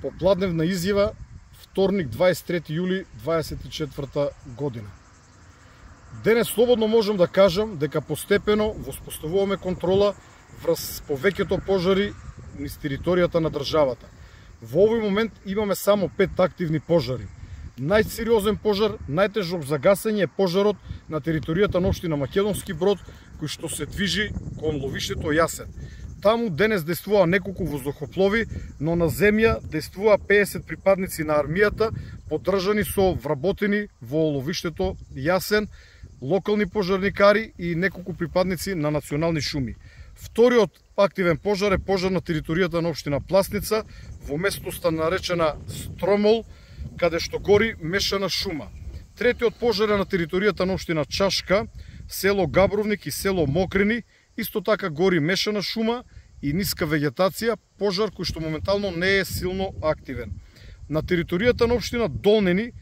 Попладневна изјава, вторник 23 јули 24 година. Денес слободно можам да кажам дека постепено воспоставуваме контрола врз повеќето пожари низ територијата на државата. Во овој момент имаме само 5 активни пожари. Најсериозен пожар, најтежок за гасење е пожарот на територијата на општина Македонски Брод, кој што се движи кон ловиштето Јасен. Таму денес действува неколку воздухоплови, но на земја действува 50 припадници на армијата, поддржани со вработени во ловиштето Јасен, локални пожарникари и неколку припадници на национални шуми. Вториот активен пожар е пожар на територијата на општина Пласница, во местоста наречена Стромол, каде што гори мешана шума. Третиот пожар е на територијата на општина Чашка, село Габровник и село Мокрини, исто така гори мешана шума и ниска вегетација, пожар кој што моментално не е силно активен. На територијата на општина Долнени,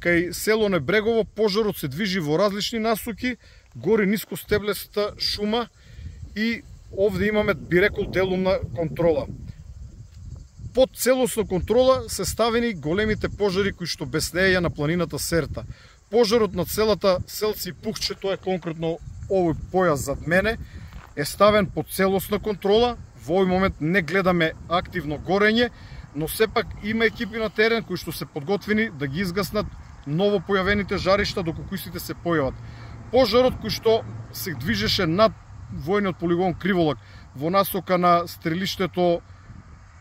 кај село Небрегово, пожарот се движи во различни насоки, гори ниско стеблеста шума и овде имаме, би рекол, делумна контрола. Под целосна контрола се ставени големите пожари кои што беснеја на планината Серта. Пожарот на целата селце Пухче, тоа е конкретно овој појас зад мене, е ставен под целосна контрола. Во овој момент не гледаме активно горење, но сепак има екипи на терен кои што се подготвени да ги изгаснат ново појавените жаришта доколку истите се појават. Пожарот кој што се движеше над војниот полигон Криволак во насока на стрелиштето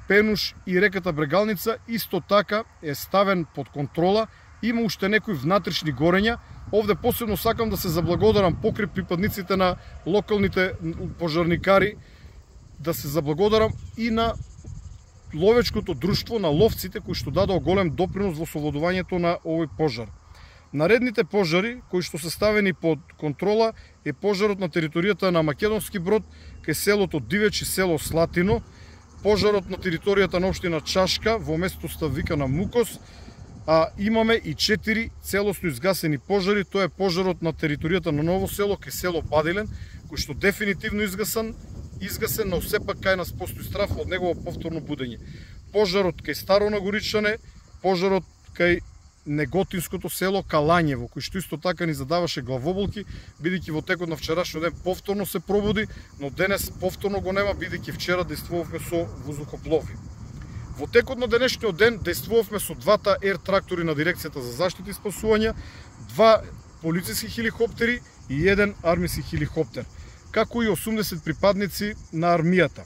Пенуш и реката Брегалница исто така е ставен под контрола. Има уште некои внатрешни горења. Овде посебно сакам да се заблагодарам покрај припадниците на локалните пожарникари, да се заблагодарам и на ловечкото друштво на ловците кои што дадоа голем допринос во совладувањето на овој пожар. Наредните пожари кои што се ставени под контрола е пожарот на територијата на Македонски Брод кај селото Дивеч и село Слатино, пожарот на територијата на општина Чашка во местоста викана Мукос, а имаме и 4 целосно изгасени пожари. Тоа е пожарот на територијата на Ново село кај село Бадилен, кој што дефинитивно изгасен, но сепак кај нас постои страф од негово повторно будење. Пожарот кај Старо Нагоричане, пожарот кај Неготинското село Калањево, кој што исто така ни задаваше главоболки, бидејќи во текот на вчерашниот ден повторно се пробуди, но денес повторно го нема, бидејќи вчера действувавме со воздухоплови. Во текот на денешниот ден действувавме со двата ер трактори на дирекцијата за заштита и спасување, 2 полициски хеликоптери и 1 армиски хеликоптер, како и 80 припадници на армијата.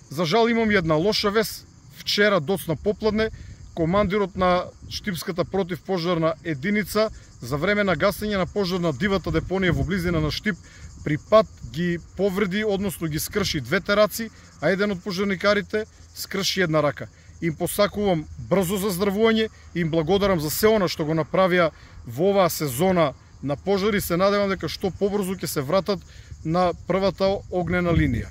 За жал имам една лоша вест. Вчера доцна попладне командирот на Штипската противпожарна единица за време на гасење на пожар на дивата депонија во близина на Штип при пат ги повреди, односно ги скрши 2 раци, а еден од пожарникарите скрши 1 рака. Им посакувам брзо заздравување и им благодарам за се она што го направија во оваа сезона на пожари. Се надевам дека што побрзо ќе се вратат на првата огнена линија.